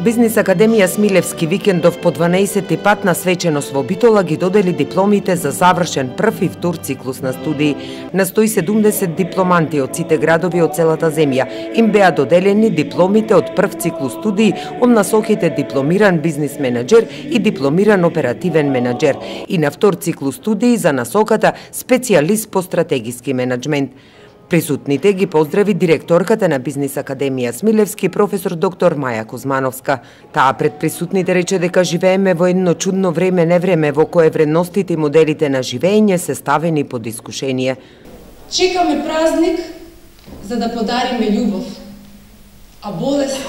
Бизнис Академија Смилевски викендов по 12-ти пат на свеченост во Битола ги додели дипломите за завршен прв и втор циклус на студии. На 170 дипломанти од сите градови од целата земја им беа доделени дипломите од прв циклус студии од насоките дипломиран бизнис менаџер и дипломиран оперативен менаџер и на втор циклус студии за насоката специјалист по стратегиски менаџмент. Присутните ги поздрави директорката на Бизнис Академија Смилевски, професор доктор Маја Кузмановска. Таа пред присутните рече дека живееме во едно чудно време, невреме во кое вредностите и моделите на живење се ставени под искушение. Чекаме празник за да подариме љубов, а болест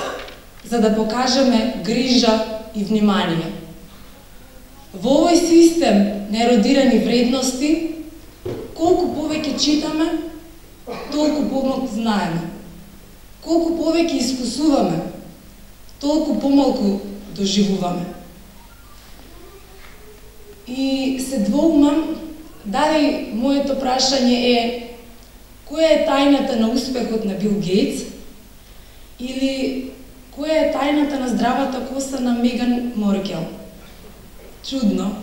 за да покажеме грижа и внимание. Во овој систем на еродирани вредности, колку повеќе читаме, толку помалку знаеме. Колку повеќе искусуваме, толку помалку доживуваме. И се двоумам дали моето прашање е која е тајната на успехот на Бил Гейтс или која е тајната на здравата коса на Меган Маркел. Чудно,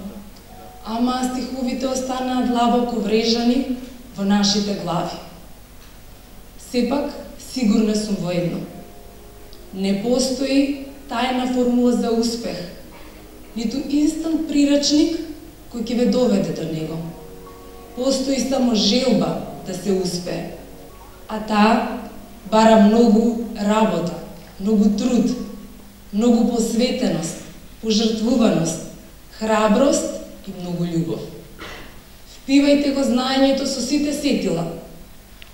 ама стиховите останаа длабоко врежани во нашите глави. Сепак, сигурна сум во едно. Не постои тајна формула за успех, ниту инстант прирачник кој ќе ве доведе до него. Постои само желба да се успее, а таа бара многу работа, многу труд, многу посветеност, пожртвуваност, храброст и многу љубов. Впивајте го знаењето со сите сетила.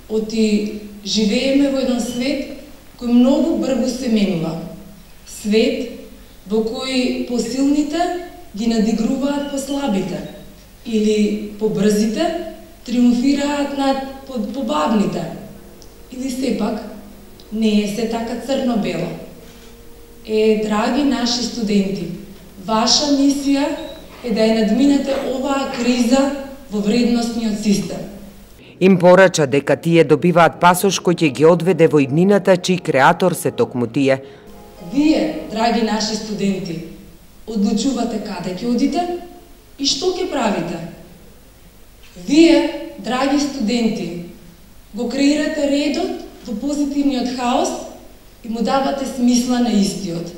Оти живееме во еден свет кој многу брзо се менува. Свет во кој посилните ги надигруваат послабите или побрзите триумфираат над побавните. Или сепак не е се така црно-бело. Драги наши студенти, ваша мисија е да ја надминете оваа криза во вредностниот систем. Им порача дека тие добиваат пасош кој ќе ги одведе во иднината, чиј креатор се токму тие. Вие, драги наши студенти, одлучувате каде ќе одите и што ќе правите. Вие, драги студенти, го креирате редот во позитивниот хаос и му давате смисла на истиот.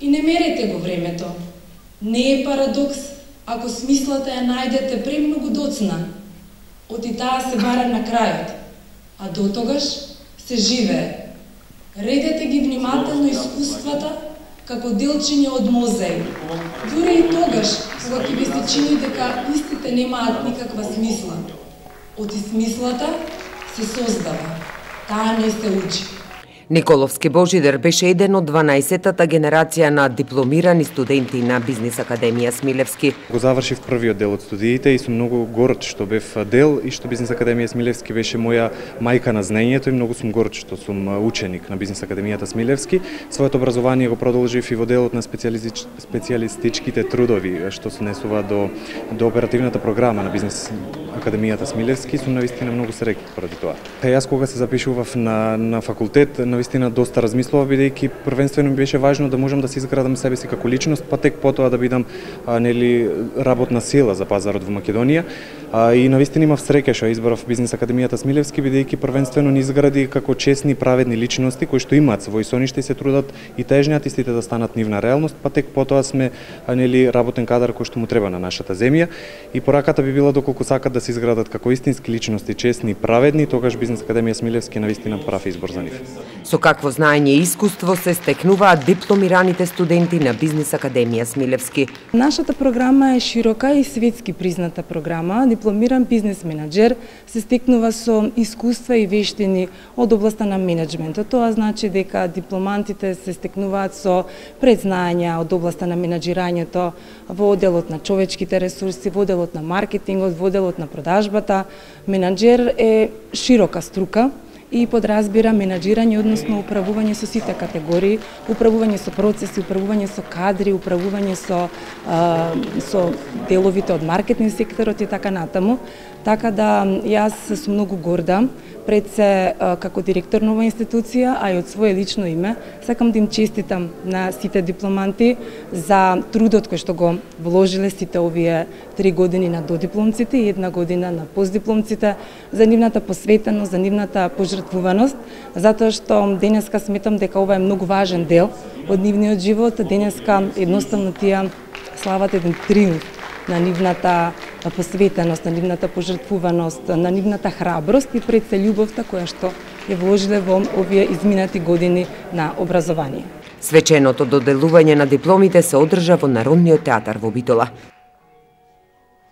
И не мерете го времето. Не е парадокс ако смислата ја најдете премногу доцна. Оти таа се бара на крајот, а дотогаш се живее. Редете ги внимателно искуствата како делчиња од мозаик. Дури и тогаш, кога ќе ви се чини дека истите немаат никаква смисла. Оти смислата се создава, таа не се учи. Николовски Божидар беше еден од 12-тата генерација на дипломирани студенти на Бизнис Академија Смилевски. Го завршив првиот дел од студиите и сум многу горд што бев дел и што Бизнис Академија Смилевски беше моја мајка на знаењето и многу сум горд што сум ученик на Бизнис Академијата Смилевски. Своето образование го продолжив и во делот на специјалистичките трудови што се несува до оперативната програма на Бизнис Академијата Смилевски. Сум навистина многу среќен поради тоа. Јас кога се запишував на факултет, навистина доста размислував, бидејќи првенствено ми беше важно да можам да се изградам себе си како личност, па тек потоа да бидам работна сила за пазарот во Македонија. И навистина имав среќа што избрав Бизнис Академијата Смилевски, бидејќи првенствено ни изгради како честни, праведни личности кои што имаат свој сониште и се трудат и тежнеат истите да станат нивна реалност, па тек потоа сме работен кадар кој што му треба на нашата земја. И пораката би била доколку сакат да се изградат како истински личности, честни и праведни, тогаш Бизнис Академија Смилевски навистина прав избор за нив. Со какво знаење и искуство се стекнуваат дипломираните студенти на Бизнис Академија Смилевски. Нашата програма е широка и светски призната програма. Дипломиран бизнес менаџер се стекнува со искуства и вештини од областа на менеджментот. Тоа значи дека дипломантите се стекнуваат со предзнаења од областа на менаџирањето во одделот на човечките ресурси, во одделот на маркетингот, во одделот на продажбата. Менаџер е широка струка и подразбира менаџирање, односно управување со сите категории, управување со процеси, управување со кадри, управување со деловите од маркетинг секторот и така натаму. Така да јас сум многу горда пред се како директор на оваа институција, а и од свое лично име, сакам да им честитам на сите дипломанти за трудот кој што го вложиле сите овие 3 години на додипломците и 1 година на постдипломците, за нивната посветеност, за нивната пожртвуваност, затоа што денеска сметам дека ова е многу важен дел од нивниот живот. Денеска едноставно тие слават еден триумф на нивната посветеност, на нивната пожртвуваност, на нивната храброст и пред се љубовта која што ја вложиле во овие изминати години на образование. Свеченото доделување на дипломите се одржа во Народниот театар во Битола.